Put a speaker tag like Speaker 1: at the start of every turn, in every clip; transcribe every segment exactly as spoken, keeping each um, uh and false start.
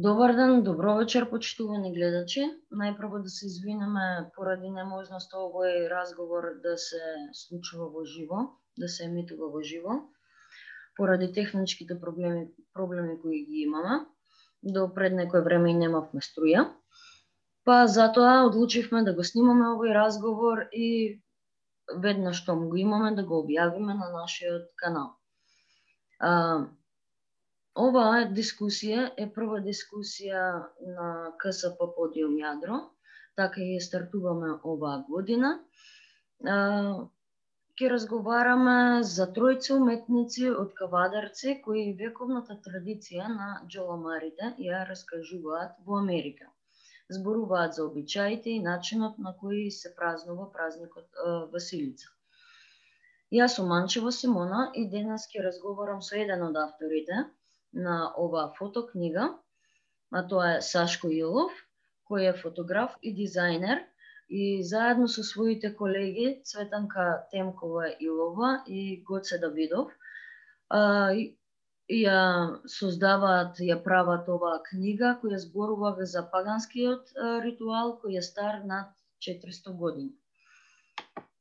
Speaker 1: Добар ден, добро вечер, почитувани гледачи. Најпрво да се извинеме поради неможност овој разговор да се случува во живо, да се емитува во живо, поради техничките проблеми, проблеми кои ги имаме. До пред некој време и немавме струја. Па затоа одлучивме да го снимаме овој разговор и веднаш што го имаме да го објавиме на нашиот канал. А, Оваа дискусија е прва дискусија на КСП Подиум Јадро, така и стартуваме оваа година. Ќе разговараме за тројца уметници од Кавадарци кои вековната традиција на џоламарите ја раскажуваат во Америка. Зборуваат за обичаите и начинот на кој се празнува празникот Василица. Јас сум Манчева Симона и денес ќе разговарам со еден од авторите на оваа фотокнига, а тоа е Сашко Илов, кој е фотограф и дизајнер и заедно со своите колеги Цветанка Темкова Илова и Гоце Давидов ја создаваат, ја прават оваа книга која зборува за паганскиот ритуал кој е стар над четиристо години.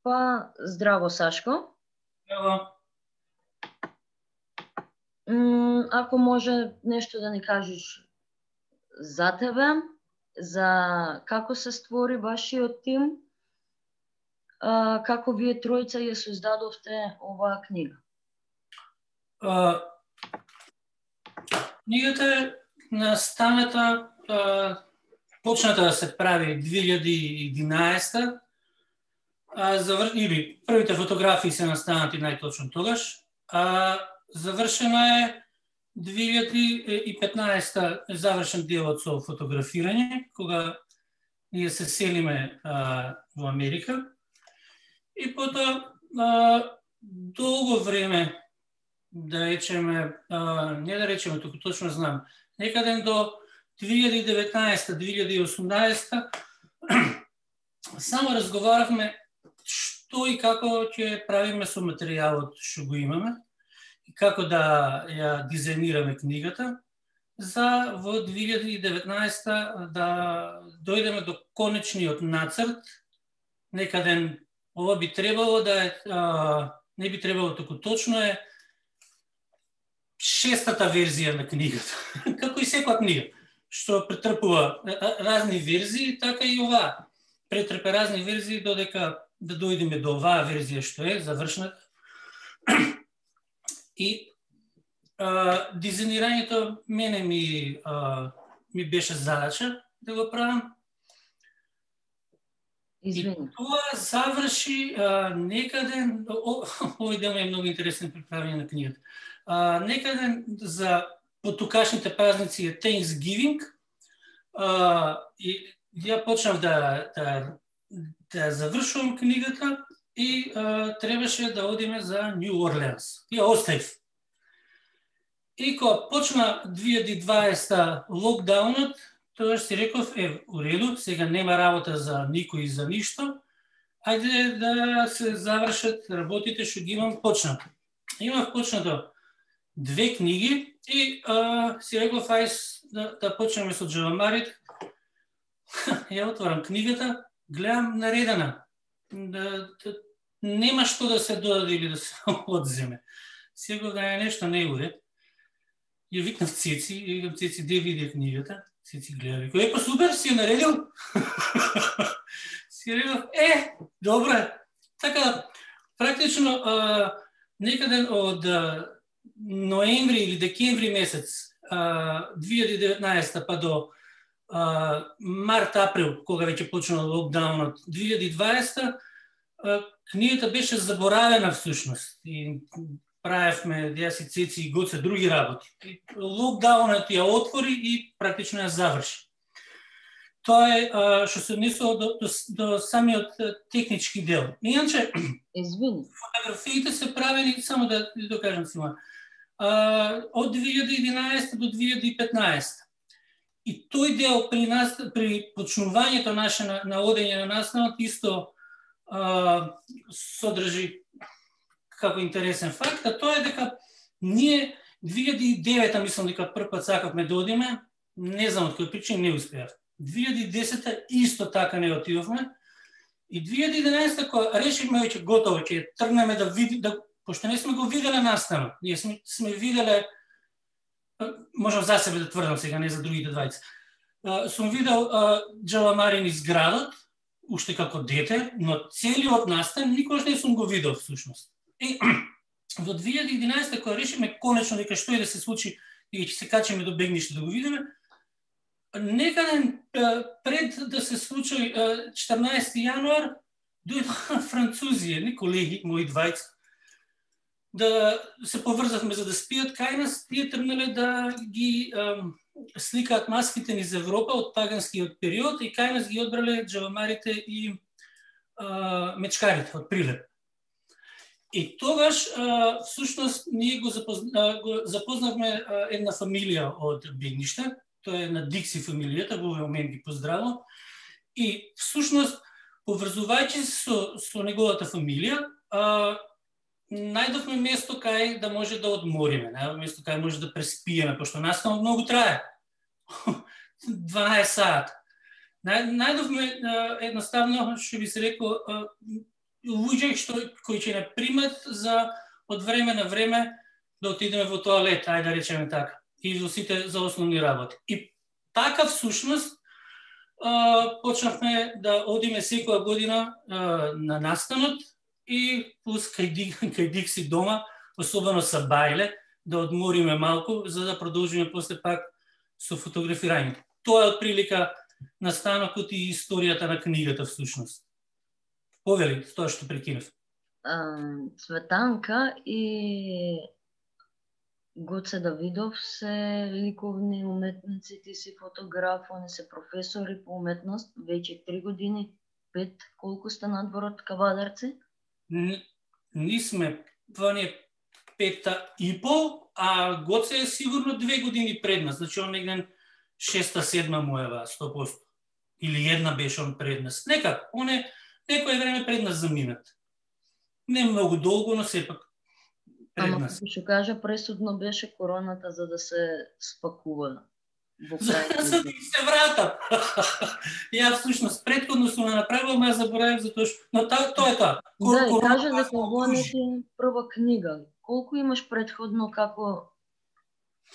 Speaker 1: Па, здраво Сашко.
Speaker 2: Здраво.
Speaker 1: Ако може нешто да ни кажеш за тебе, за како се створи вашиот тим, како вие тројца ја создадовте оваа книга?
Speaker 2: Uh, книгата е настаната, uh, почната да се прави две илјади и единаесета, а завр... или првите фотографии се настанати најточно тогаш, а завршена е две илјади и петнаесета завршен делот со фотографирање, кога ние се селиме а, во Америка. И потоа а, долго време, да речеме, а, не да речеме, туку точно знам, некаден до две илјади и деветнаесета - две илјади и осумнаесета само разговаравме што и како ќе правиме со материјалот што го имаме и како да ја дизајнираме книгата, за во две илјади и деветнаесета да дојдеме до конечниот нацрт. Некаден ова би требало да е, а, не би требало туку точно е шестата верзија на книгата. Како и секоја книга, што претрпува разни верзии, така и ова претрпе разни верзии додека да дојдеме до оваа верзија што е завршната. И а, дизајнирањето мене ми, а, ми беше задача да го правам.
Speaker 1: Извини.
Speaker 2: И тоа заврши а, некаден, овој дел е многу интересен при правење на книгата. А, некаден за потукашните празници е Thanksgiving, а, и ја почнав да, да, да завршувам книгата и а, требаше да одиме за Нью Орлеанс. Ја оставив. И кога почна две илјади и дваесета локдаунот, тогаш си реков, е, уреду, сега нема работа за никој и за ништо, ајде да се завршат работите што ги имам почнато. Имав почнато две книги и а, си реков, ајс да, да почнеме со џеламарите. Ја отворам книгата, гледам наредена. Да, да, нема што да се додаде или да се одземе. Сега да е нешто не уред. Ја викнав Цеци, и викам Цеци, де види книгата? Цеци гледа, викам, е, па супер, си ја наредил? Си реков, е, добре. Така, практично, а, некаден од а, ноември или декември месец а, две илјади и деветнаесета па до а, март-април, кога веќе почнал локдаунот две илјади и дваесета, а, книгата беше заборавена всушност. И правевме, јас и Цеци и Гоце други работи. И локдаунот ја отвори и практично ја заврши. Тоа е а, што се однесува до, до, до самиот технички дел. Иначе,
Speaker 1: Извини.
Speaker 2: фотографиите се правени, само да докажам сима, а, од две илјади и единаесета до две илјади и петнаесета. И тој дел при нас, при почнувањето наше на, на одење на настанот, исто а, содржи како интересен факт, а тоа е дека ние две илјади и девета, мислам дека прв пат сакавме да одиме, не знам од кој причини не успеав. две илјади и десета исто така не отидовме. И две илјади и единаесета кога решивме веќе готово, ќе тргнеме да види, да, пошто не сме го виделе настанот. Ние сме, сме виделе, можам за себе да тврдам сега, не за другите двајца. Сум видел Джаламарин из градот, уште како дете, но целиот настан никош не сум го видел всушност. И во две илјади и единаесета кога решиме конечно дека што и да се случи и ќе се качиме до Бегниште да го видиме, некаде пред да се случи четрнаесети јануар дојдоа французи, едни колеги, мои двајца, да се поврзавме за да спијат кај нас, тие тргнале да ги ем, сликаат маските низ Европа од паганскиот период и кај нас ги одбрале джавамарите и е, мечкарите од Прилеп. И тогаш, е, всушност, ние го, запозна, го запознавме е, една фамилија од Бегниште, тоа е на Дикси фамилијата, во овој момент ги поздравувам. И всушност, поврзувајќи се со, со неговата фамилија, е, најдовме место кај да може да одмориме, најдовме место кај може да преспиеме, пошто настанот многу трае. дванаесет сати. Најдовме едноставно, што би се реко, луѓе што кои ќе не примат за од време на време да отидеме во тоалет, ајде да речеме така, и во сите за основни работи. И така всушност почнавме да одиме секоја година на настанот, и плюс кај, кај Дикси дома, особено са бајле, да одмориме малку, за да продолжиме после пак со фотографирањето. Тоа е отприлика настанокот и историјата на книгата всушност. Повели, тоа што прекинав.
Speaker 1: Цветанка и Гоце Давидов се ликовни уметници, ти си фотограф, они се професори по уметност, веќе три години, пет, колку сте надвор кавадарци?
Speaker 2: Ни сме, това ни е пета и пол, а Гоце е сигурно две години пред нас, значи он негден шеста, седма му е сто проценти. Или една беше он пред нас. Некак, он е некој време пред нас заминат. Не многу долго, но сепак пред
Speaker 1: Ама,
Speaker 2: нас.
Speaker 1: Ама, ќе кажа, пресудно беше короната за да се спакува.
Speaker 2: За, за да се вратам. Ја всушност претходно сум направил, ма ја заборавив затоа што... Но та, тоа е тоа.
Speaker 1: Да, и кажа дека ова не ти прва книга. Колку имаш претходно, како...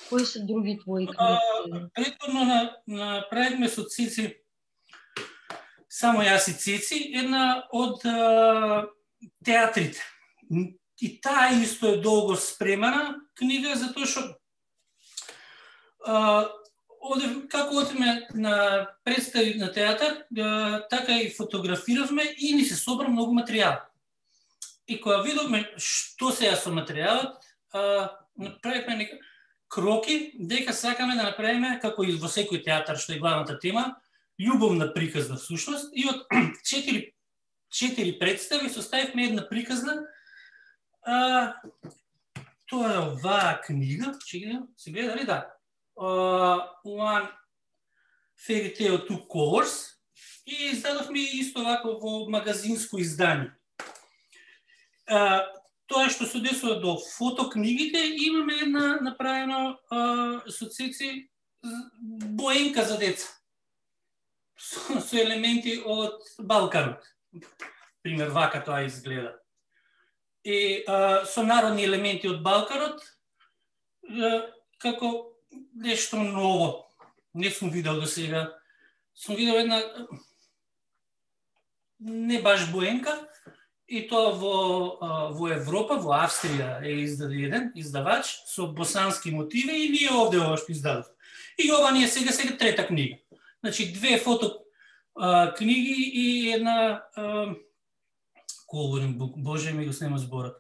Speaker 1: Кои се други твои книги?
Speaker 2: Претходно на, направивме со Цеци, само јас и Цеци, една од а, театрите. И таа исто е долго спремана книга, затоа што Одев, како одиме на представи на театар, така и фотографиравме и ни се собра многу материјал. И кога видовме што се ја со материјалот, направивме нека кроки дека сакаме да направиме, како и во секој театар што е главната тема, љубовна приказна всушност, и од четири, четири представи составивме една приказна. А, тоа е оваа книга, че се гледа ли да? Uh, one Fairy Tale Two Colors и издадовме исто вако во магазинско издание. Uh, тоа што се однесува до фотокнигите, имаме една направено uh, со Цеци боенка за деца со, со елементи од Балканот. Пример, вака тоа изгледа. И uh, со народни елементи од Балканот, uh, како нешто ново. Не сум видел до сега. Сум видел една не баш боенка, и тоа во, во Европа, во Австрија е издаден издавач со босански мотиви и ние овде ова што издадов. И ова ни е сега сега трета книга. Значи две фото а, книги и една а, coloring book, боже ми го снема зборот.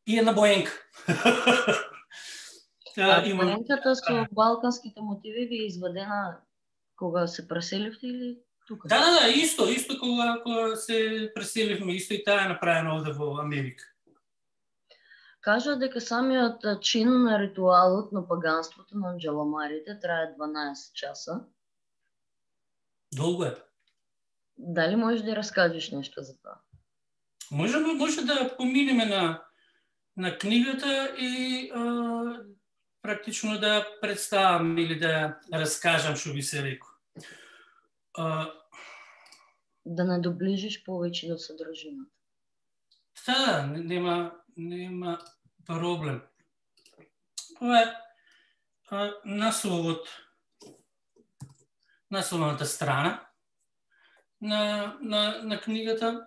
Speaker 2: И една боенка.
Speaker 1: А има... боенката со балканските мотиви ви е извадена кога се преселивте или тука?
Speaker 2: Да, да, да, исто, исто кога, кога се преселивме, исто и таа е направена овде во Америка.
Speaker 1: Кажа дека самиот чин на ритуалот на паганството на джаламарите трае дванаесет часа.
Speaker 2: Долго е.
Speaker 1: Дали можеш да раскажеш нешто за тоа?
Speaker 2: Може, може да поминеме на, на книгата и а, практично да представам или да раскажам што би се рекол. Uh,
Speaker 1: да надоближиш повеќе до содржината.
Speaker 2: Да, нема, нема проблем. Ова е насловот, насловната страна на, на, на книгата.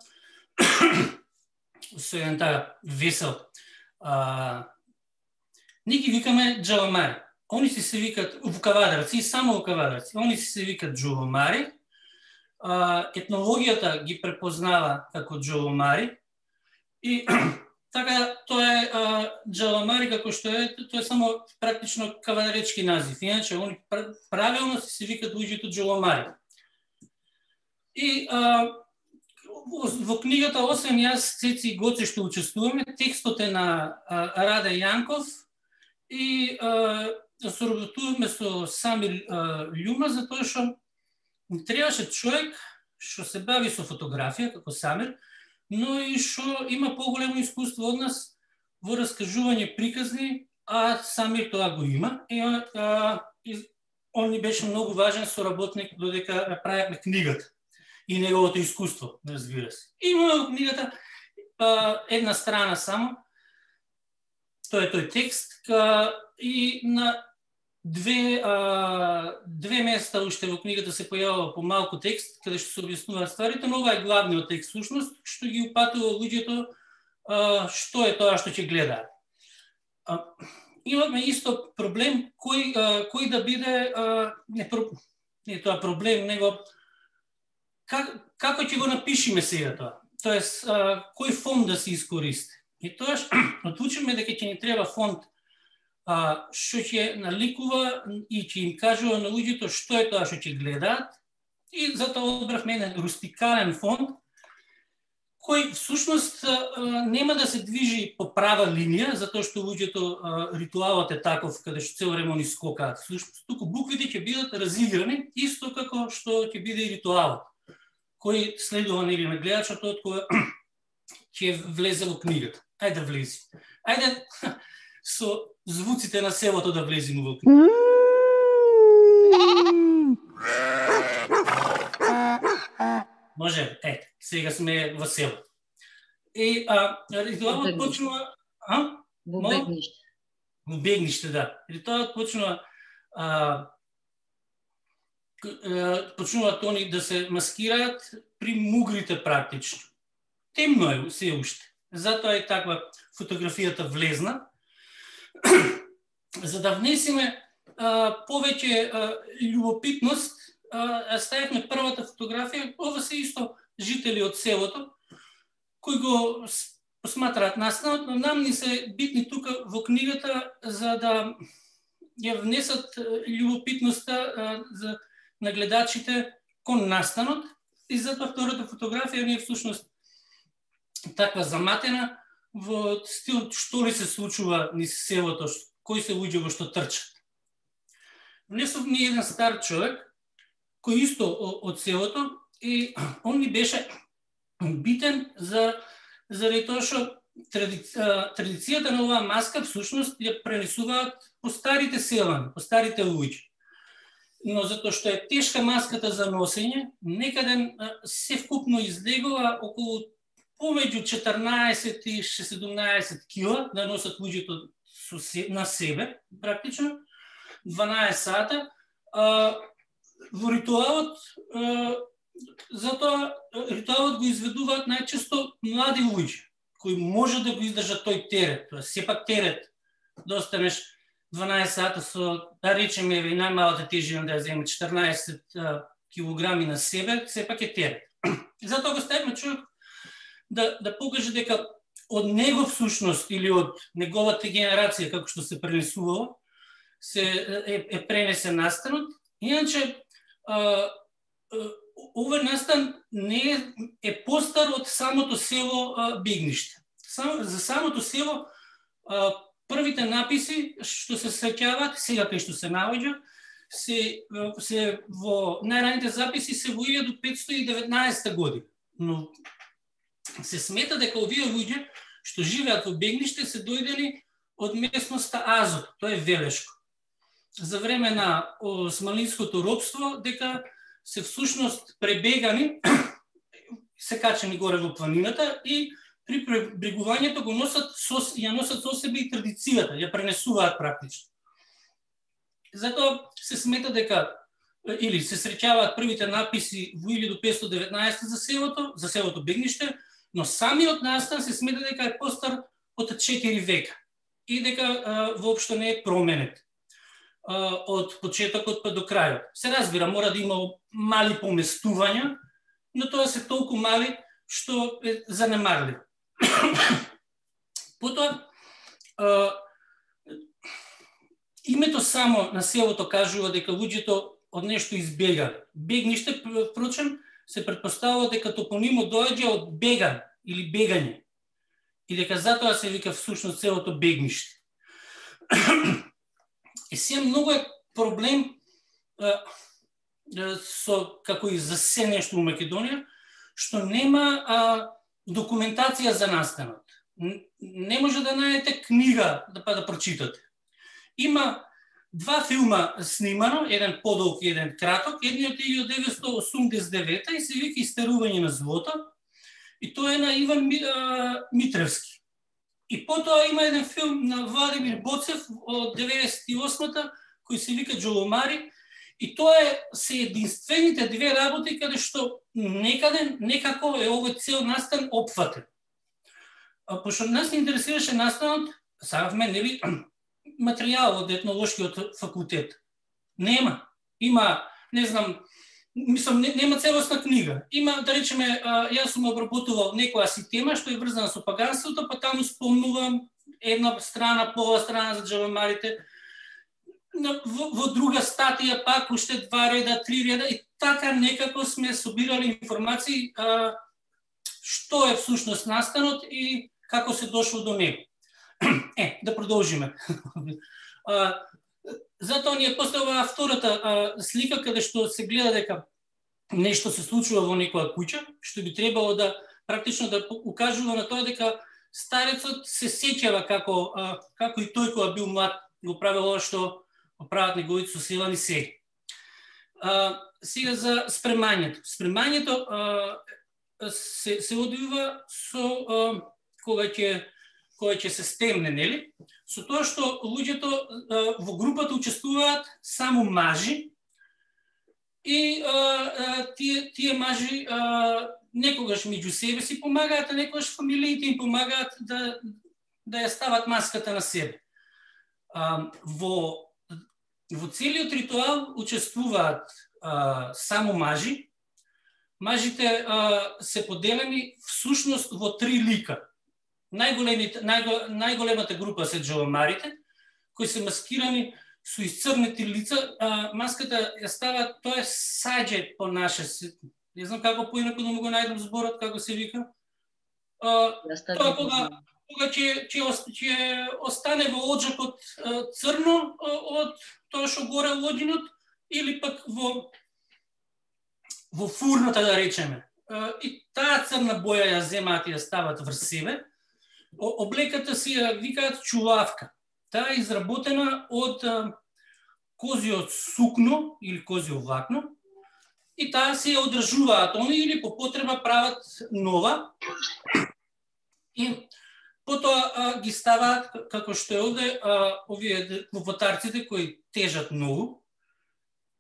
Speaker 2: Со еден така весел. А, ние ги викаме джаламари. Они си се викат вукавадарци, само вукавадарци. Они си се викат джаламари. Етнологијата ги препознава како джаламари. И така, тоа е джаламари како што е, тоа е само практично кавадаречки назив. Иначе, они правилно се викат луѓето джаламари. И а, во книгата, освен јас, Цеци и Гоце што учествуваме, текстот е на а, Раде Јанков и а, соработуваме со Самир а, Љума, затоа што требаше човек што се бави со фотографија, како Самир, но и што има поголемо искуство од нас во раскажување приказни, а Самир тоа го има. И, а, и он ни беше многу важен соработник додека правевме книгата и неговото искуство, разбира се. Има во книгата а, една страна само, тоа е тој текст, а, и на две, а, две места уште во книгата се појавува по малку текст, каде што се објаснуваат стварите, но ова е главниот текст, всушност, што ги упатува луѓето а, што е тоа што ќе гледаат. А, имаме исто проблем, кој, а, кој да биде, а, не, не тоа проблем, него как, како ќе го напишеме сега тоа? Тоест, а, кој фонд да се искористи? И тоа одлучиме дека ќе ни треба фонд а, што ќе наликува и ќе им кажува на луѓето што е тоа што ќе гледаат. И затоа одбравме еден рустикален фонд, кој всушност а, нема да се движи по права линија, затоа што луѓето а, ритуалот е таков, каде што цел време они скокаат. Всушност, туку буквите ќе бидат разиграни, исто како што ќе биде и ритуалот, кој следува нели на гледачот од кога ќе влезе во книгата. Ајде да влези. Ајде со звуците на селото да влеземе во книгата. Може, е, сега сме во село. И а, ритуалот почнува... А?
Speaker 1: Во бегниште.
Speaker 2: Во бегниште, да. Ритуалот почнува... А, почнуваат они да се маскираат при мугрите практично. Темно е се уште. Затоа е таква фотографијата влезна. За да внесеме а, повеќе а, љубопитност, а, ставивме првата фотографија. Ова се исто жители од селото, кои го посматраат настанот, но нам ни се битни тука во книгата за да ја внесат љубопитноста а, за на гледачите кон настанот. И затоа втората фотографија не е всушност таква заматена во стил што ли се случува низ селото, кои се луѓе во што трчат. Внесов ми еден стар човек, кој исто од селото, и он ми беше битен за заради тоа што тради, традицијата на оваа маска всушност ја пренесуваат по старите селани, по старите луѓе. Но затоа што е тешка маската за носење, некаде се вкупно излегува околу помеѓу четрнаесет и седумнаесет кила да носат луѓето на себе, практично, дванаесет сата. А, во ритуалот, а, затоа ритуалот го изведуваат најчесто млади луѓе, кои може да го издржат тој терет. Тоа сепак терет да останеш дванаесет сата со, да речеме, и најмалата тежина да ја земе четрнаесет килограми на себе, сепак е терет. Затоа го ставиме човек да, да покаже дека од него всушност или од неговата генерација, како што се пренесувало, се е, е пренесен настанот. Иначе, а, овој настан не е, е постар од самото село а, Бегниште. Сам, за самото село а, првите написи што се сеќаваат, сега кај што се наоѓа, се, се во најраните записи се во илјада петстотини и деветнаесетта година. Но се смета дека овие луѓе што живеат во Бегниште се дојдени од местноста Азот, тоа е Велешко. За време на османлиското робство, дека се всушност пребегани, се качени горе во планината и при пребрегувањето го носат со, ја носат со себе и традицијата, ја пренесуваат практично. Затоа се смета дека или се среќаваат првите написи во илјаду петстотини и деветнаесета за селото, за селото Бегниште, но самиот настан се смета дека е постар од четири века и дека а, воопшто не е променет а, од почетокот па до крајот. Се разбира, мора да има мали поместувања, но тоа се толку мали што е занемарливо. Потоа, а, името само на селото кажува дека луѓето од нешто избега. Бегниште, впрочем, се предпоставува дека топонимот доаѓа од беган или бегање. И дека затоа се вика всушност селото Бегниште. И сега многу е проблем а, со, како и за се нешто во Македонија, што нема а, документација за настанот. Не може да најдете книга да па да прочитате. Има два филма снимано, еден подолг и еден краток, едниот е од деветстотини осумдесет и девета и се вика Истерување на злото, и тоа е на Иван Митревски. И потоа има еден филм на Владимир Боцев од деветдесет и осмата, кој се вика Джоломари, и тоа е се единствените две работи каде што некаде, некако е овој цел настан опфатен. А пошто нас не интересираше настанот, сакавме, нели, материјал од етнолошкиот факултет. Нема. Има, не знам, мислам, не, нема целосна книга. Има, да речеме, а, јас сум обработувал некоја си тема што е врзана со паганството, па таму спомнувам една страна, пола страна за джавамарите, во, во друга статија пак уште два реда, три реда, и така некако сме собирали информации а, што е всушност настанот и како се дошло до него. Е, да продолжиме. А, затоа ни е поставила втората а, слика каде што се гледа дека нешто се случува во некоја куќа, што би требало да практично да укажува на тоа дека старецот се сеќава како а, како и тој кога бил млад го правел ова што го прават неговите соселани сега. А, сега за спремањето. Спремањето а, се се одвива со а, кога ќе кога ќе се стемне, нели? Со тоа што луѓето а, во групата учествуваат само мажи и а, а, тие тие мажи а, некогаш меѓу себе си помагаат, а некогаш фамилиите им помагаат да да ја стават маската на себе. А, во во целиот ритуал учествуваат а, само мажи. Мажите а, се поделени всушност во три лика. Најголемите, најго, најголемата група се джавамарите, кои се маскирани со исцрнети лица. А, маската ја става, тоа е саѓе по наше, не знам како поинаку да му го најдам зборот, како се вика. А, тоа кога, кога ќе, ќе, ќе остане во оджакот црно од тоа што горе лодинот, или пак во, во фурната, да речеме. А, и таа црна боја ја земаат и ја стават врз себе. Облеката си ја викаат чулавка. Таа е изработена од а, козиот сукно или козио влакно и таа се ја одржуваат они или по потреба прават нова и потоа а, ги ставаат како што е овде а, овие клопотарците кои тежат многу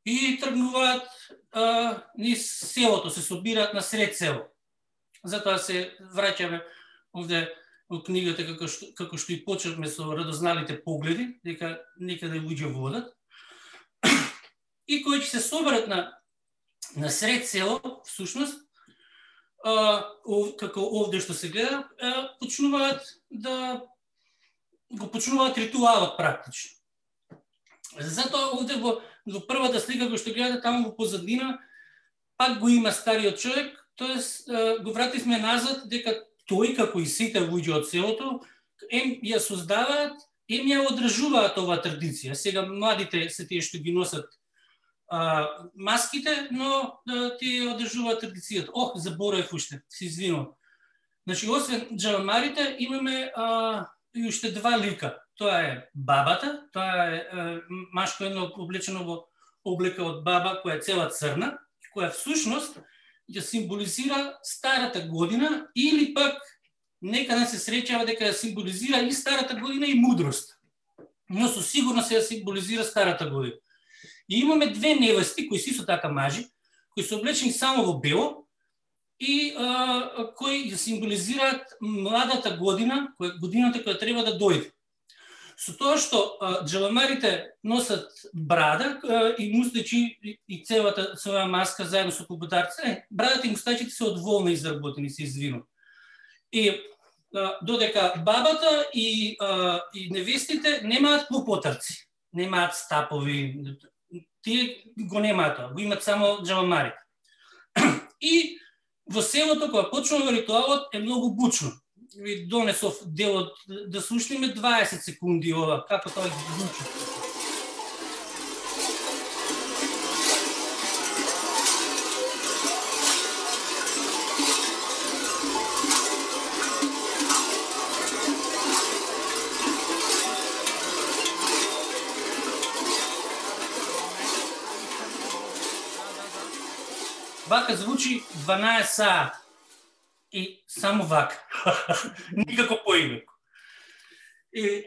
Speaker 2: и тргнуваат а, низ селото, се собираат на сред село. Затоа се враќаме овде во книгата, како што, како што и почнавме со радозналите погледи, дека некаде луѓе водат. И кои ќе се соберат на, на сред село, всушност, а, ов, како овде што се гледа, а, почнуваат да го почнуваат ритуалот практично. Затоа овде во, во првата слика која што гледате таму во позадина, пак го има стариот човек, тоест го вративме назад дека тој, како и сите луѓе од селото, ем ја создаваат, ем ја одржуваат оваа традиција. Сега младите се тие што ги носат а, маските, но да, тие одржуваат традицијата. Ох, заборев уште, се извинувам. Значи, освен джавамарите, имаме а, и уште два лика. Тоа е бабата, тоа е, е машко едно облечено во облека од баба која е цела црна, која всушност ја символизира старата година или пак некаде се среќава дека ја символизира и старата година и мудрост. Но со сигурност се ја символизира старата година. И имаме две невести кои си со така мажи, кои се облечени само во бело и а, кои ја символизираат младата година, која годината која треба да дојде. Со тоа што а, джавамарите носат брада а, и мустачи и, и целата своја маска заедно со кубутарците, брадата и мустачите се од волна изработени, се извинувам. И а, додека бабата и, а, и невестите немаат клопотарци, немаат стапови, тие го немаат, го имат само джавамарите. И во селото кога почнува ритуалот е многу бучно. Ви донесов делот да слушнеме дваесет секунди ова, како тоа ги звучи. Вака звучи дванаесет саат. И само вака. Никако поинако. И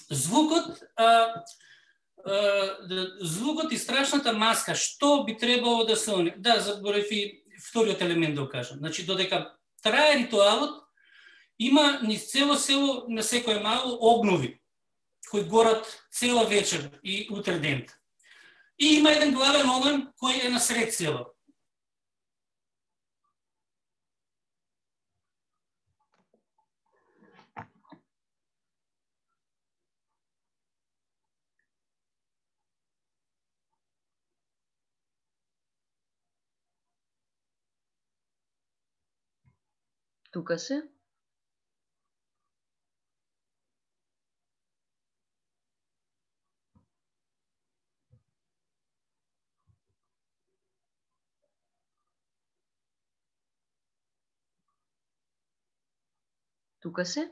Speaker 2: звукот, а, а, звукот и страшната маска, што би требало да се... Да, заборев и вториот елемент да го кажам. Значи, додека трае ритуалот, има низ цело село на секој мало огнови, кои горат цела вечер и утре ден. И има еден главен оган кој е насред село.
Speaker 1: Тука се? Тука се?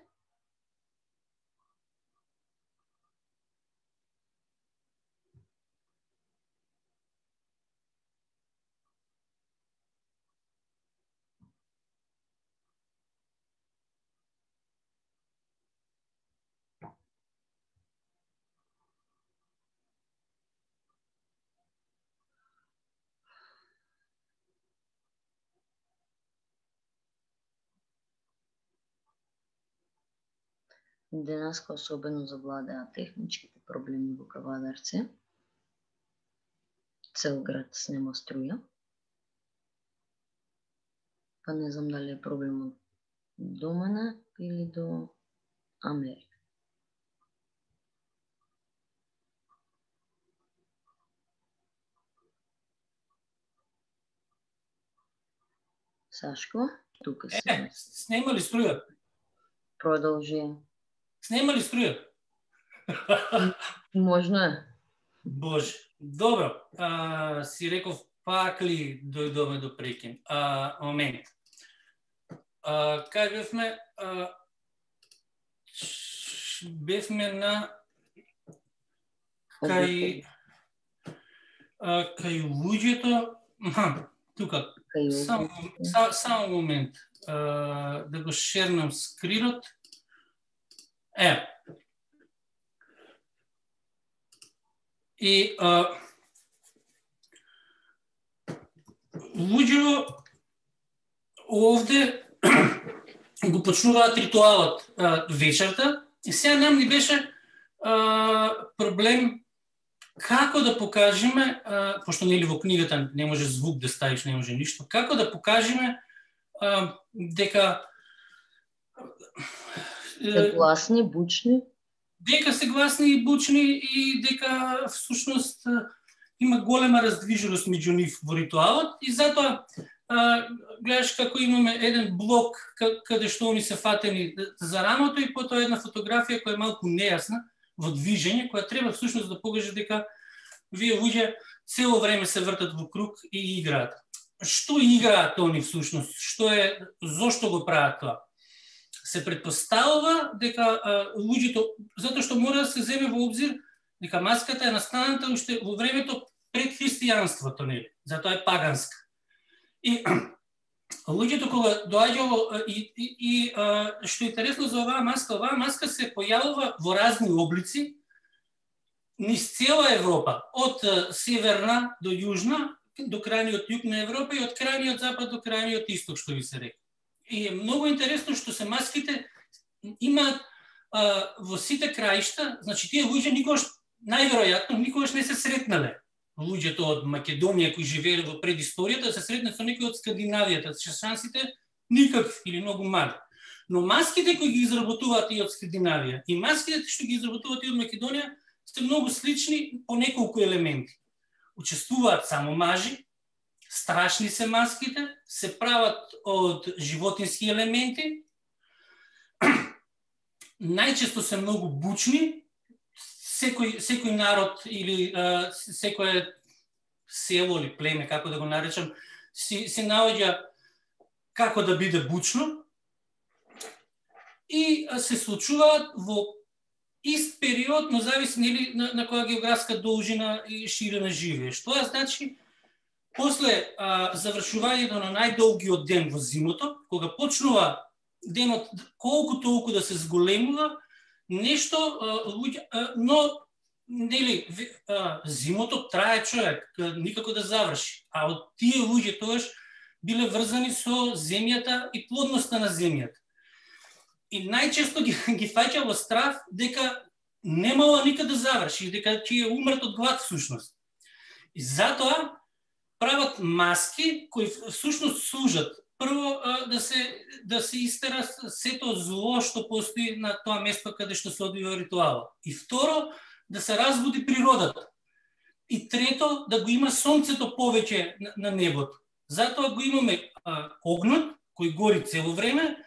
Speaker 1: Денеска особено завладеа техничките проблеми во Кавадарце. Цел град снема струја. Па не знам дали е проблемот до мене или до Америка. Сашко, тука си.
Speaker 2: Е, снема ли струја?
Speaker 1: Продолжи.
Speaker 2: Снема ли струја?
Speaker 1: Можно е.
Speaker 2: Боже, добро. А, си реков пак ли дојдоме до прекин? А, момент. А, кај бевме? А, бевме на кај а, кај луѓето. Тука. Само, са, само момент. А, да го шернам скринот. Е. И а, луѓето овде го почнуваат ритуалот а, вечерта и сега нам ни беше а, проблем како да покажеме, а, пошто нели во книгата не може звук да ставиш, не може ништо, како да покажеме а, дека
Speaker 1: се гласни, бучни,
Speaker 2: дека се гласни и бучни и дека всушност има голема раздвиженост меѓу нив во ритуалот и затоа а, гледаш како имаме еден блок каде што они се фатени за рамото и потоа една фотографија која е малку нејасна во движење, која треба всушност да покаже дека вие луѓе цело време се вртат во круг и играат. Што играат они всушност? Што е, зошто го прават тоа? се предпоставува дека луѓето, затоа што мора да се земе во обзир дека маската е настаната уште во времето пред христијанството, нели? Затоа е паганска. И луѓето кога доаѓало и, и, и што е интересно за оваа маска, оваа маска се појавува во разни облици низ цела Европа, од северна до јужна, до крајниот југ на Европа и од крајниот запад до крајниот исток, што ви се река. И е многу интересно што се маските имаат во сите краишта, значи тие луѓе никогаш, најверојатно, никогаш не се сретнале. Луѓето од Македонија кои живееле во предисторијата се сретнат со некои од Скандинавијата, шансите никакви или многу мали. Но маските кои ги изработуваат и од Скандинавија и маските што ги изработуваат и од Македонија се многу слични по неколку елементи. Учествуваат само мажи, страшни се маските, се прават од животински елементи, најчесто се многу бучни, секој, секој народ или а, секој село или племе, како да го наречам, си, се наоѓа како да биде бучно и се случуваат во ист период, но зависи нели на, на која географска должина и ширина живееш. Тоа значи, после а, завршувањето на најдолгиот ден во зимото, кога почнува денот колку толку да се зголемува, нешто, а, луѓе, а, но нели а, зимото трае човек, никако да заврши. А од тие луѓе тоаш биле врзани со земјата и плодноста на земјата. И најчесто ги, ги фаќа во страв дека немало никад да заврши, дека ќе умрат од глад всушност. И затоа прават маски кои всушност служат прво да се да се истера сето зло што постои на тоа место каде што се одвива ритуалот. И второ, да се разбуди природата. И трето, да го има сонцето повеќе на, на небото. Затоа го имаме а, огнот кој гори цело време.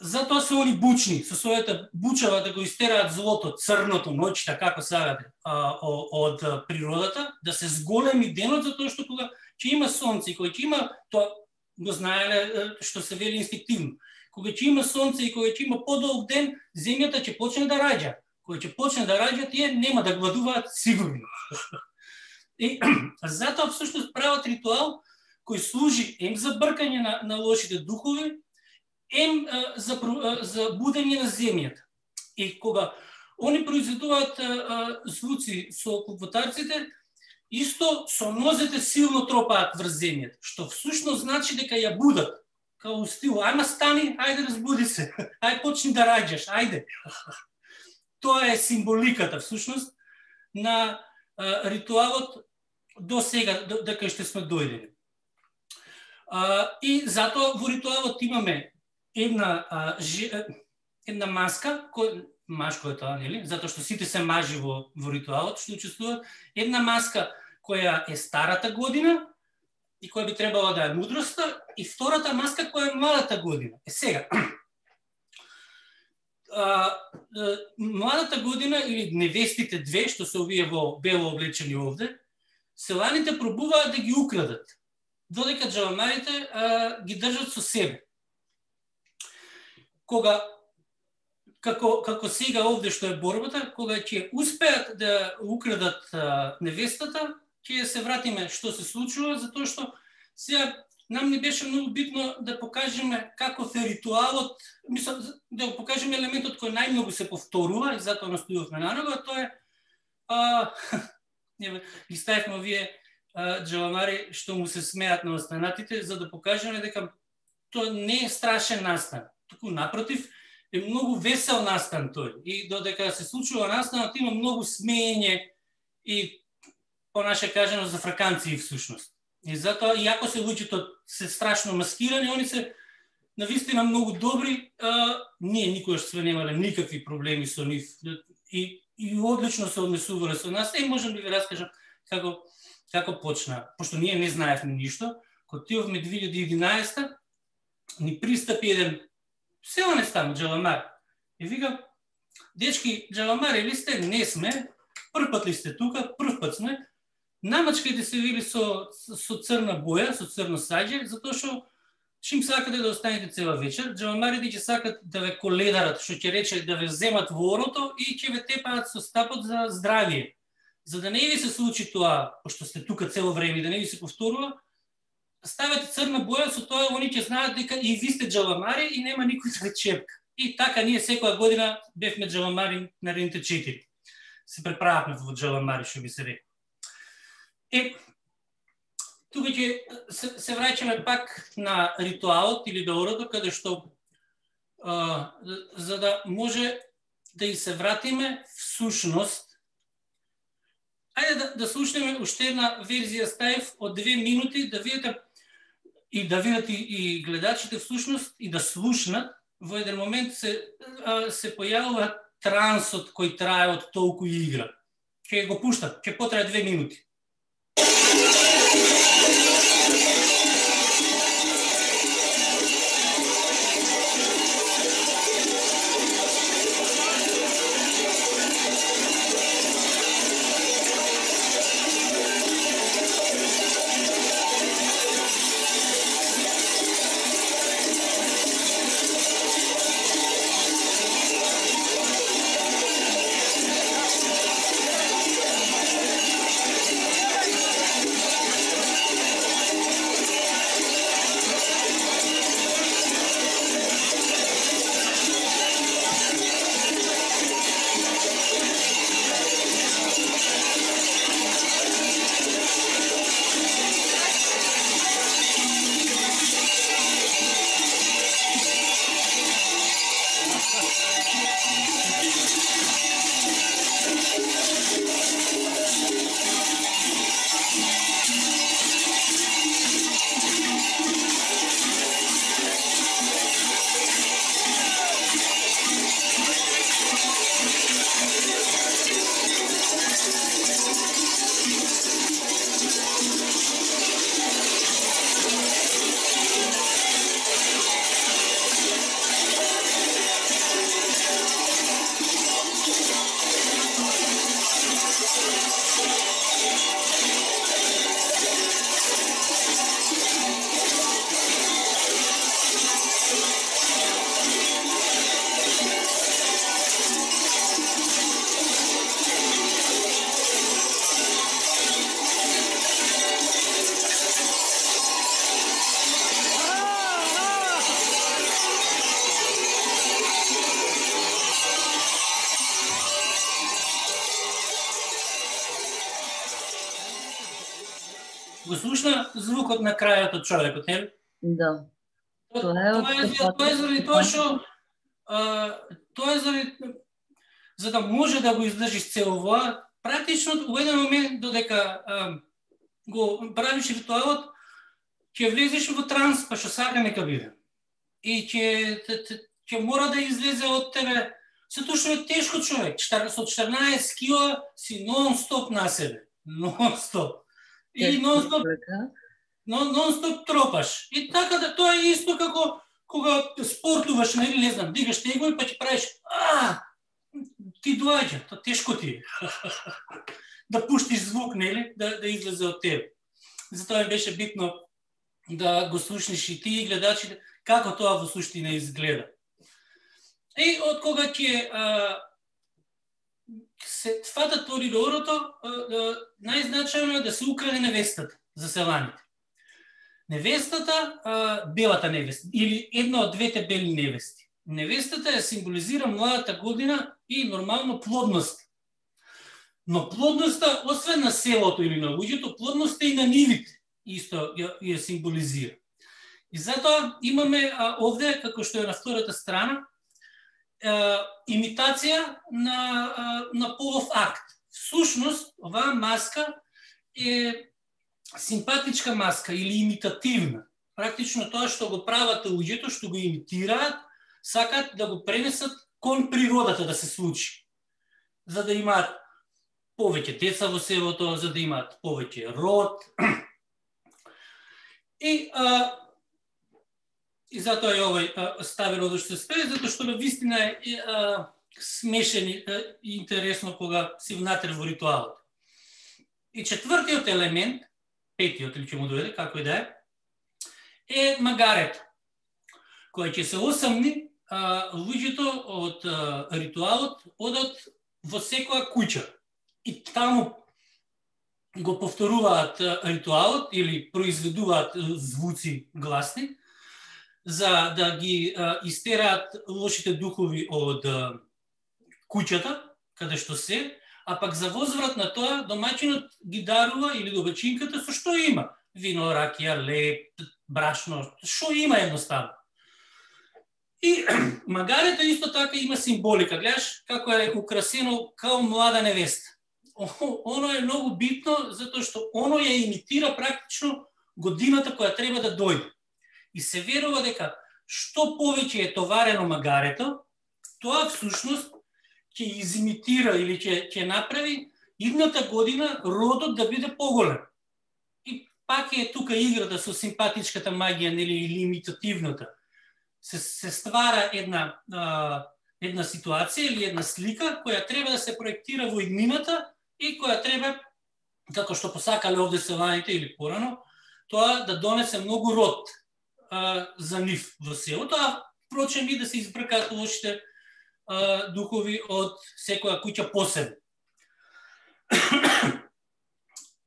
Speaker 2: Затоа се они бучни, со својата бучава да го истераат злото, црното, ноќта, како сагате, од природата, да се зголеми денот, затоа што кога ќе има сонце и кога ќе има, тоа го знаеле што се вели инстинктивно, кога ќе има сонце и кога ќе има подолг ден, земјата ќе почне да раѓа. Кога ќе почне да раѓа, тие нема да гладуваат сигурно. И затоа всушност прават ритуал кој служи ем за бркање на, на лошите духови, ем за, за будење на земјата. И кога они произведуваат звуци со клопотарците, исто со нозете силно тропаат врз земјата, што всушност значи дека ја будат. Као стил, ајма стани, ајде разбуди се, ајде почни да раѓаш, ајде. Тоа е символиката всушност на а, ритуалот до сега, до, дека што сме дојдени. А, и затоа во ритуалот имаме една а, ж, една маска, кој машко е тоа, нели? Затоа што сите се мажи во, во ритуалот што учествуваат, една маска која е старата година и која би требала да е мудроста, и втората маска која е младата година. Е сега, а, а, младата година или невестите две, што се овие во бело облечени овде, селаните пробуваат да ги украдат, додека джаламарите а, ги држат со себе. Кога, како, како сега овде што е борбата, кога ќе успеат да украдат а, невестата, ќе се вратиме што се случува, затоа што сега нам не беше многу битно да покажеме каков е ритуалот, мислам, да го покажеме елементот кој најмногу се повторува, и затоа настојувавме на него, а тоа е, а, ги ставивме овие джаламари што му се смеат на останатите, за да покажеме дека тоа не е страшен настан. Туку напротив, е многу весел настан тој. И додека се случува настанот, има многу смеење и понаше кажано за фраканци всушност. И затоа, иако се луѓето се страшно маскирани, они се навистина многу добри, а, ние никогаш сме немале никакви проблеми со нив и, и одлично се однесувале со нас. И можам да ви раскажам како, како почна. Пошто ние не знаевме ништо, кога отидовме две илјади и единаесета, ни пристапи еден селанец таму, джаламар. И викам, дечки, джаламари ли сте? Не сме. Прв пат ли сте тука? Прв пат сме. Намачкајте се вили со, со црна боја, со црно саѓе, затоа што чим сакате да останете цела вечер, џавамарите ќе сакат да ве коледарат, што ќе рече да ве земат во орото и ќе ве тепаат со стапот за здравие. За да не ви се случи тоа, пошто сте тука цело време, да не ви се повторува, ставете црна боја, со тоа они ќе знаат дека и ви сте џавамари и нема никој да ве чепка. И така ние секоја година бевме џавамари наредните четири. Се преправавме во џавамари, што би се рекол. Е, тука ќе се, се враќаме пак на ритуалот или до орото, каде што а, за да може да и се вратиме в сушност. Ајде да, да слушнеме уште една верзија ставив од две минути, да видите и да видат и, и гледачите всушност и да слушнат. Во еден момент се, а, се појавува трансот кој трае од толку игра. Ќе го пуштам, ќе потрае две минути. Го слушна звукот на крајот од човекот, нели?
Speaker 1: Да.
Speaker 2: Тоа е тоа е заради тоа што тоа е заради за да може да го издржиш цело ова, практично во еден момент додека а, го правиш ритуалот, ќе влезеш во транс, па што сака нека биде. И ќе ќе мора да излезе од тебе, затоа што е тешко човек, со четрнаесет кила си нон-стоп на себе, нон-стоп. И нон-стоп нон-стоп тропаш. И така да тоа е исто како кога спортуваш, нели, не знам, дигаш тегови, па ќе правиш, а, ти доаѓа, тоа тешко ти е. Да пуштиш звук, нели, да, да излезе од тебе. Затоа ми беше битно да го слушнеш и ти и гледачите, како тоа во суштина изгледа. И од кога ќе се фатат тори до орото, најзначајно е да се украде невестата за селаните. Невестата, а, белата невеста, или една од двете бели невести. Невестата ја символизира младата година и нормално плодност. Но плодноста, освен на селото или на луѓето, плодноста и на нивите исто ја, ја символизира. И затоа имаме а, овде, како што е на втората страна, а, имитација на, а, на полов акт. Всушност, оваа маска е симпатичка маска или имитативна. Практично тоа што го прават луѓето, што го имитираат, сакат да го пренесат кон природата да се случи. За да имаат повеќе деца во селото, за да имаат повеќе род. И, а, и затоа е овој а, ставено да што се спее, затоа што на вистина е а, смешен и интересно кога си внатре во ритуалот. И четвртиот елемент, петиот или ќе му дојде, како и да е, е магарето. која ќе се осамни, луѓето од а, ритуалот одат во секоја куќа и таму го повторуваат ритуалот или произведуваат звуци гласни за да ги а, истераат лошите духови од а, куќата, каде што се, а пак за возврат на тоа домаќинот ги дарува или добачинката со што има. Вино, ракија, леп, брашно, што има едноставно. И магарето исто така има символика. Гледаш како е украсено као млада невеста. Оно е многу битно, затоа што оно ја имитира практично годината која треба да дојде. И се верува дека што повеќе е товарено магарето, тоа всушност ќе изимитира или ќе, ќе направи идната година родот да биде поголем. И пак е тука играта со симпатичката магија, нели, или имитативната. Се, се ствара една, а, една ситуација или една слика која треба да се проектира во иднината и која треба, како што посакале овде селаните или порано, тоа да донесе многу род а, за нив во селото, а впрочем и да се избркаат лошите а, духови од секоја куќа посебно.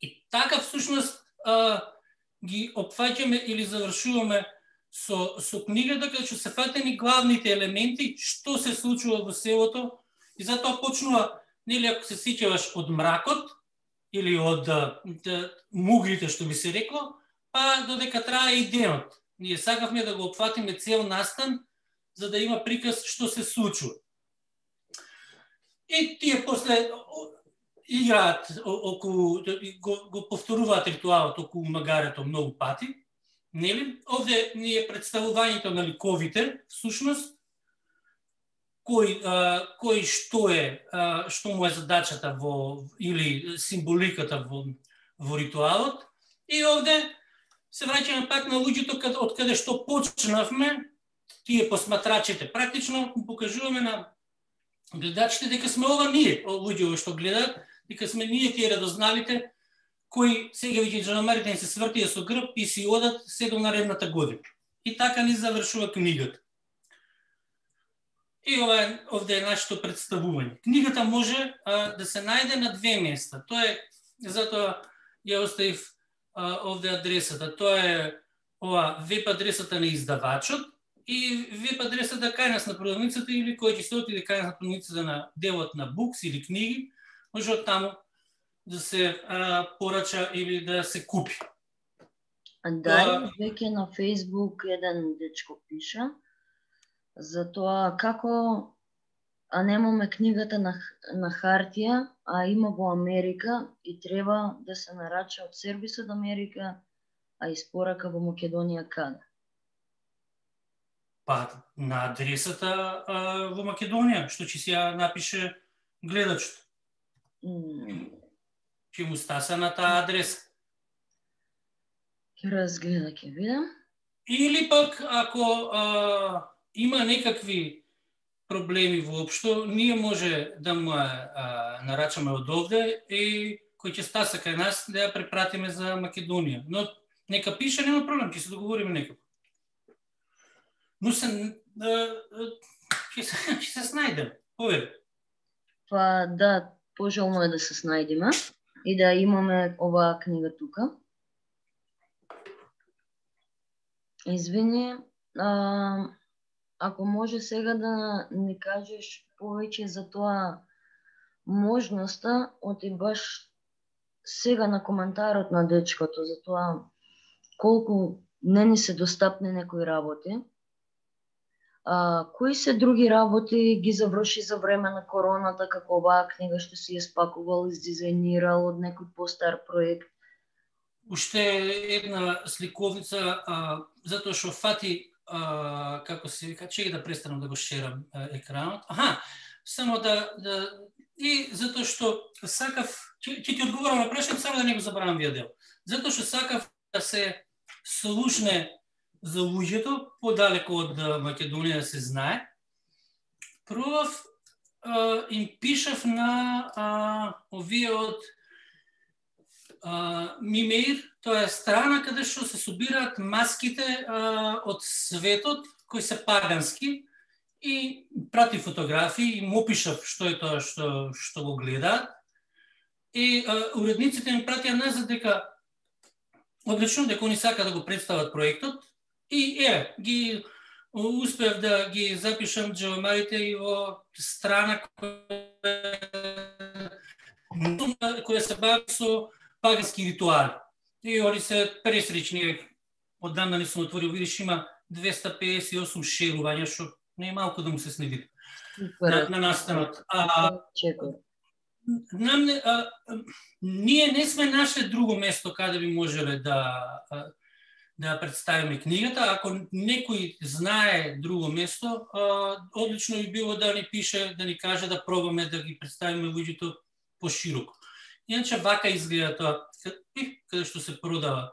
Speaker 2: И така всушност а, ги опфаќаме или завршуваме со, со книгата, каде што се фатени главните елементи, што се случува во селото, и затоа почнува, нели, ако се сеќаваш, од мракот, или од да, да, муглите, што би се рекло, па додека трае и денот. Ние сакавме да го опфатиме цел настан, за да има приказ што се случува. И тие после играат околу, го, го повторуваат ритуалот околу магарето многу пати. Нели? Овде ни е представувањето на ликовите, всушност, кој, а, кој што е, а, што му е задачата во, или символиката во, во ритуалот. И овде се враќаме пак на луѓето од каде што почнавме, тие посматрачите. Практично покажуваме на гледачите дека сме ова ние, луѓе што гледаат, дека сме ние тие радозналите, кои сега веќе джанамарите се свртија со грб и си одат се до наредната година. И така ни завршува книгата. И ова е, овде е нашето представување. Книгата може а, да се најде на две места. Тоа е, затоа ја оставив а, овде адресата. Тоа е ова веб адресата на издавачот и веб адресата кај нас на продавницата, или кој ќе се отиде кај нас на продавницата на делот на букс или книги, може од таму да се а, порача или да се купи.
Speaker 1: А дали веќе на Facebook еден дечко пиша за тоа како а немаме книгата на, на хартија, а има во Америка и треба да се нарача од сервис од Америка, а испорака во Македонија каде?
Speaker 2: Па на адресата а, во Македонија, што ќе си ја напише гледачот. Mm. Ќе му стаса на таа адреса.
Speaker 1: Ќе разгледа, ќе видам.
Speaker 2: Или пак, ако а, има некакви проблеми воопшто, ние може да му а, нарачаме од овде и кој ќе стаса кај нас да ја препратиме за Македонија. Но нека пише, нема проблем, ќе се договориме некако. Но се, ќе се, ќе се снајдем, повери.
Speaker 1: Па да, пожелно е да се снајдеме и да имаме оваа книга тука. Извини, а, ако може сега да ни кажеш повеќе за тоа можноста, оти баш сега на коментарот на дечкото, за тоа колку не ни се достапни некои работи. А, кои се други работи ги заврши за време на короната, како оваа книга што си ја спакувал, издизајнирал од некој постар проект?
Speaker 2: Уште една сликовница, а, затоа што фати, а, како се вика, чеки да престанам да го шерам а, екранот. Аха, само да, да и затоа што сакав, ќе ти одговорам на прашање, само да не го забравам вие дел. Затоа што сакав да се слушне за луѓето, подалеку од Македонија да се знае. Пробав, а, им пишав на а, овие од а, Мимеир, тоа е страна каде што се собираат маските а, од светот, кои се пагански и прати фотографии и му опишав што е тоа што што го гледаат. И а, уредниците ми пратија назад дека одлично, дека они сака да го представат проектот и е, ги успев да ги запишам джавамарите и во страна која, која се бави со пагански ритуали. И они се пресречни, оддамна не сум отворил, видиш, има двеста педесет и осум шерувања, што не е малку да му се снеди на, на настанот. А, нам, а, ние не сме наше друго место каде би можеле да да представиме книгата. Ако некој знае друго место, одлично би било да ни пише, да ни каже, да пробаме да ги представиме луѓето пошироко. Иначе вака изгледа тоа, каде што се продава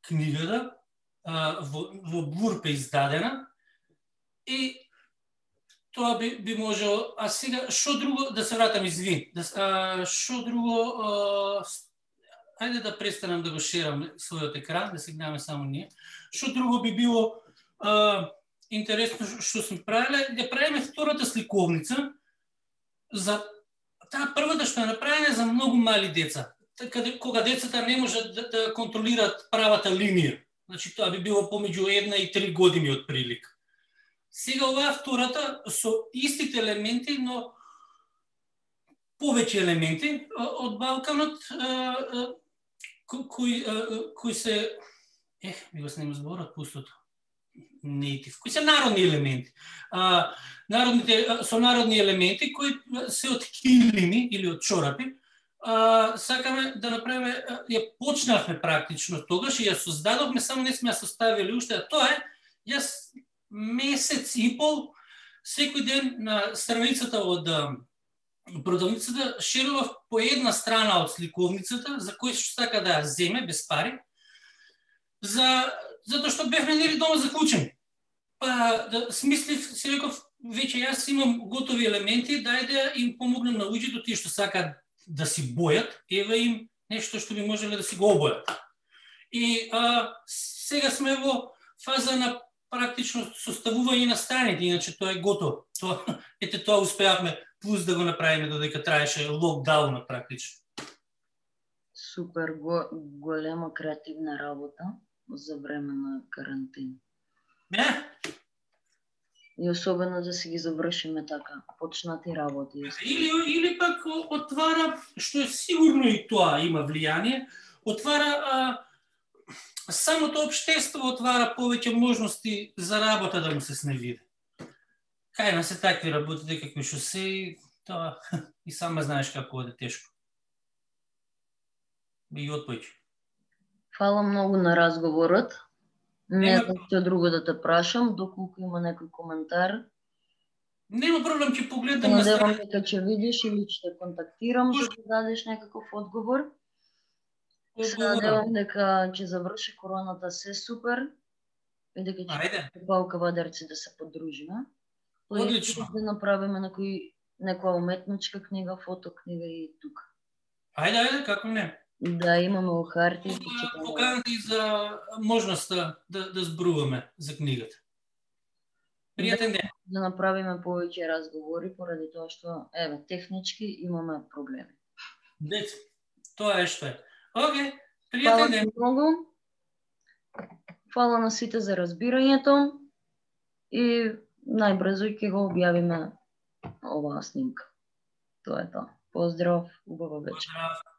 Speaker 2: книгата, во, во Блурпе издадена, и тоа би, би можело. А сега, што друго, да се вратам, извини, да, што друго, а, ајде да престанам да го шерам својот екран, да се гледаме само ние. Што друго би било а, интересно што сме правиле, да правиме втората сликовница за таа првата што е направена за многу мали деца, кога, кога децата не можат да, да контролираат правата линија. Значи тоа би било помеѓу една и три години од прилика. Сега оваа втората со истите елементи, но повеќе елементи од Балканот, кои, кои се, ех, ми го снема зборот, пустото, нейтив, кои се народни елементи. А, народните, со народни елементи, кои се од килими или од чорапи, а, сакаме да направиме, ја почнавме практично тогаш и ја создадовме, само не сме ја составили уште, а тоа е, јас месец и пол, секој ден на страницата од продавницата шерував по една страна од сликовницата, за кој што сака да ја земе без пари, за затоа што бевме нели дома заклучени. Па да смислив, си реков, веќе јас имам готови елементи, дајде им помогнем на луѓето, тие што сакаат да си бојат, еве им нешто што би можеле да си го обојат. И а, сега сме во фаза на практично составување на страните, иначе тоа е готово. Тоа, ете тоа успеавме, плюс да го направиме додека траеше локдаунот практично.
Speaker 1: Супер, го, голема креативна работа за време на карантина.
Speaker 2: Не?
Speaker 1: И особено да си ги завршиме така, почнати работи.
Speaker 2: Или, или пак отвара, што е сигурно и тоа има влијание, отвара а, самото општество отвара повеќе можности за работа да му се сневиде. Кај на се такви работи, дека кои што се, тоа и сама знаеш како оде тешко. И отпојќи.
Speaker 1: Фала многу на разговорот. Не знам што друго да те прашам, доколку има некој коментар.
Speaker 2: Нема проблем, ќе погледам на
Speaker 1: страна. Надевам дека ќе видиш или ќе те контактирам за да дадеш некаков одговор. Се надевам дека ќе заврши короната се супер и дека ќе Палка Вадарци да се подружиме.
Speaker 2: Одлично.
Speaker 1: Да направиме некој, некоја уметничка книга, фотокнига и тука.
Speaker 2: Ајде, ајде, како не.
Speaker 1: Да, имаме у харти.
Speaker 2: Поканата и за можноста да, да зборуваме за книгата. Пријатен ден.
Speaker 1: Да направиме повеќе разговори, поради тоа што, еве, технички имаме проблеми.
Speaker 2: Дец, тоа е што е. Океј, пријатен ден.
Speaker 1: Фала многу. Фала на сите за разбирањето и најбрзо ќе го објавиме оваа снимка. Тоа е тоа. Поздрав, убава вечер.
Speaker 2: Поздрав.